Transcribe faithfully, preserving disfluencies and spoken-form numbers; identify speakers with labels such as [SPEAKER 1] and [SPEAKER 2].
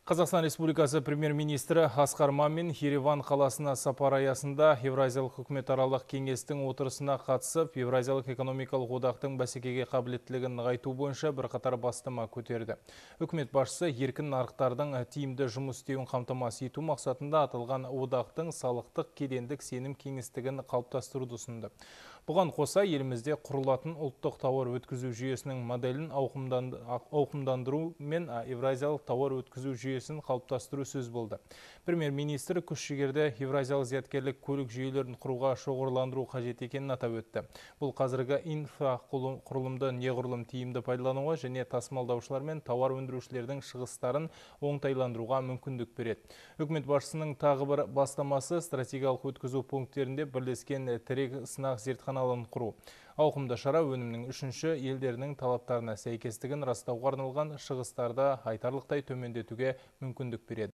[SPEAKER 1] Қазақстан Республикасы премьер-министрі Асқар Мамин Ереван қаласына сапар аясында Евразиялық үкіметаралық кеңестің отырысына қатысып, Евразиялық экономикалық одақтың бәсекеге қабілеттілігін нығайту бойынша бірқатар бастама көтерді. Үкімет басшысы еркін нарықтардың тиімді жұмыс істеуін қамтамасыз ету мақсатында аталған одақтың салықтық кедендік сенім кеңістігін қалыптастыруды ұсынды. Бұған қоса елімізде құрылатын ұлттық тауар өткізу жүйесінің моделін ауқымдандыру мен Евразиялық тауар өткізу жүйесін қалыптастыру сөз болды. Премьер-министр күш-жігерді Евразиялық зияткерлік көлік жүйелерін құруға шоғырландыру қажет екенін атап өтті. Бұл қазіргі инфрақұрылымды неғұрлым тиімді пайдалануға және тасымалдаушылар мен тауар өндірушілердің шығыстарын оңтайландыруға мүмкіндік береді. Үкімет басшысының тағы бір бастамасы стратегиялық өткізу пункттерінде бірлескен тірек сынақ зертханаларын құру. Ауқымды шара өнімнің үшінші елдерінің талаптарына сәйкестігін растауға арналған шығыстарды айтарлықтай төмендетуге мүмкіндік береді.